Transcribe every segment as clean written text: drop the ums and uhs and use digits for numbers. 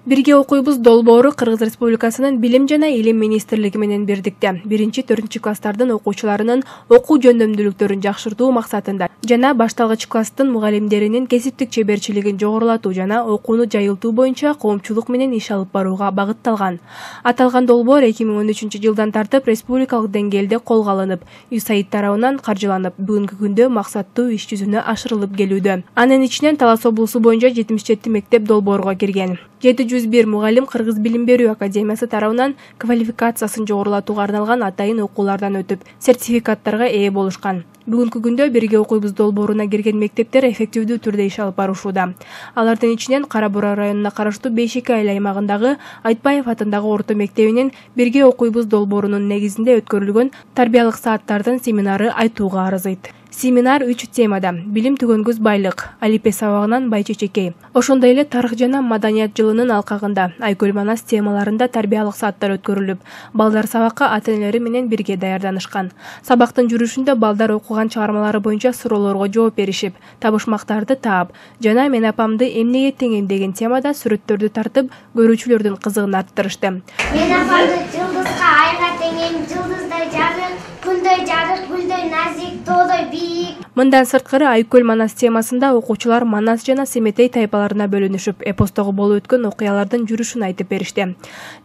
Бирге окуйбуз долбоору Кыргыз Республикасынын Билим жана Илим Министрлиги менен бирдикте 1-4 класстардын окуучуларынын окуу жөндөмдүүлүктөрүн жакшыртуу максатында жана башталгыч класстын мугалимдеринин кесиптик чеберчилигин жогорулатуу жана окууну жайылтуу боюнча коомчулук менен иш алып барууга багытталган. Аталган долбоор 2013-жылдан тартып республикалык деңгээлде колго алынып, USAID тарабынан каржыланып, бүгүнкү күндө максаттуу иш жүзүнө ашырылып келүүдө. Анын ичинен Талас облусу боюнча 77 мектеп долбоорго кирген. 701 мугалим Кыргыз Билим берүү академиясы тарабынан квалификациясын жогорулатууга арналган атайын окуулардан өтүп, сертификаттарга ээ болушкан. Бүгүнкү күндө бирге окуйбуз долбооруна кирген мектептер эффективдүү түрдө иш алып барышууда. Алардын ичинен Кара Бура районуна караштуу Бейшеки айыл аймагындагы Айтбаев атындагы орто мектебинин бирге окуйбуз долбоорунун негизинде өткөрүлгөн тарбиялык сааттардын семинары айтууга арзыйт. Семинар 3 темада: билим түгөнгүс байлык, Алипе сабагынан Байчечекей. Ошондой эле тарых жана маданият жылынын алкагында Айкөл Манас темаларында тарбиялык сааттар өткөрүлүп, балдар сабакка ата-энелери менен бирге даярданышкан. Сабактын жүрүшүндө балдар окуган чыгармалары боюнча суроолорго жооп беришип, табышмактарды таап жана мен апамды эмнеге теңейм деген темада сүрөттөрдү тартып, көрүүчүлөрдүн кызыгын арттырышты. Мен апамды жылдызга, айга теңейм, жылдыздай жабык, күндөй жарык, гүлдөй назик, тоодой бийик. Мындан сырткары Айкөл Манас темасында окуучулар Манас жана Семетей тайпаларына бөлүнүшүп, эпостогу болуп өткөн окуялардын жүрүшүн айтып беришти.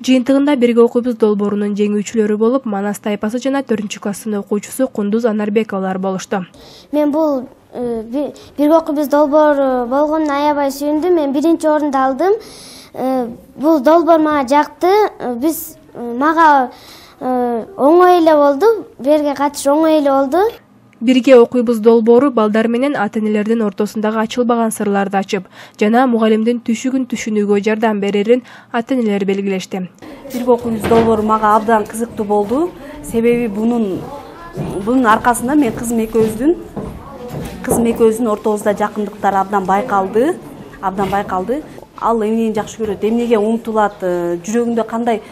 Жыйынтыгында бирге окуйбуз долбоорунун жеңүүчүлөрү болуп Манас тайпасы жана 4-класстын окуучусу Кундуз Анарбековалар болушту. Мен бул бирге окуйбуз долбоору болгонуна аябай сүйүндүм. Мен 1-орунду алдым. Бул долбоор мага жакты. Мага оңой эле болду. Берге катышуу оңой эле болду. Бирге окуйбуз долбоору балдар менен ата-энелердин ортосундагы ачылбаган сырларды ачып, жана мугалимдин түшүгүн түшүнүүгө жардам берерин ата-энелер белгилешти. Бирге окуйбуз долбоору мага абдан кызыктуу болду. Себеби бунун аркасында мен кызым экөөбүздүн ортобузда жакындыктар абдан байкалды. Ал эмнени жакшы көрөт, эмнеге умтулат, жүрөгүндө кандай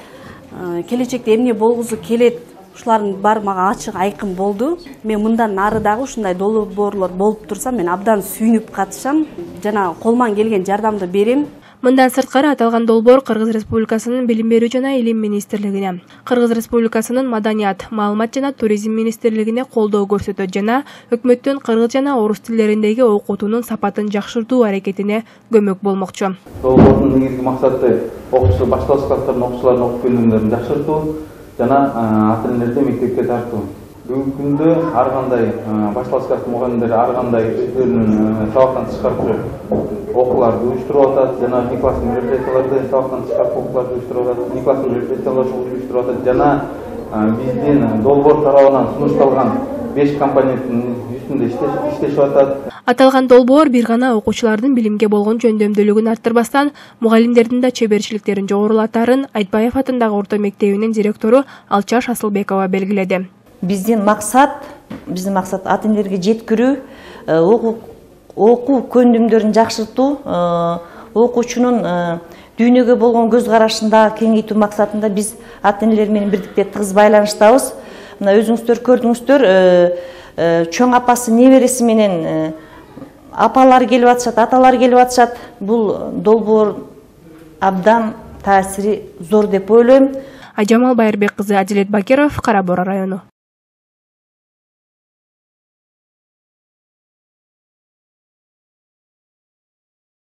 келечекте эмне болгусу келет, ушулардын баары мага ачык айкын болду. Мен мындан нары дагы ушундай долбоорлор болуп турса, мен абдан сүйүнүп катышам жана колуман келген жардамды берем. Мындан сырткары аталган долбоор Кыргыз Республикасынын Билим берүү жана Илим Министрлигине, Кыргыз Республикасынын Маданият, Маалымат жана Туризм Министрлигине колдоо көрсөтөт жана өкмөттүн кыргыз жана орус тилдериндеги окутуунун сапатын жакшыртуу аракетине көмөк болмокчу. Долбоордун негизги максаты окуучу башталгыч класстардын окуучуларынын окуп көргөндөрүн жакшыртуу жана ата-энелерди мектепке тартуу. Бүгүнкү күндө ар кандай башталгыч класс мугалимдери ар кандай өздөрүнүн сабактан тышкары окууларды уюштуруп атат жана класстын мероприятияларды сабактан тышкары окууларды уюштуруп атат, класстын мероприятияларды уюштуруп атат жана биздин долбоор тарабынан сунушталган 5 компоненттин үстүндө иштешип атат. Аталган долбоор бир гана окуучулардын билимге болгон жөндөмдүүлүгүн арттырбастан, мугалимдердин да чеберчиликтерин жогорулатарын Айтбаев атындагы орто мектебинин директору Алчаш Асылбекова белгиледи. Биздин максат ата-энелерге жеткирүү, окуу көндүмдөрүн жакшыртуу, окуучунун дүйнөгө болгон көз карашын да кеңейтүү максатында биз ата-энелер менен бирдикте тыгыз байланыштабыз. Мына өзүңүздөр көрдүңүздөр, чоң апасы небереси менен апалары келип атышат, аталары келип атышат. Бул долбоор абдан таасири зор деп ойлойм. Ажамал Байырбек кызы, Адилет Бакиров, Кара Бура району.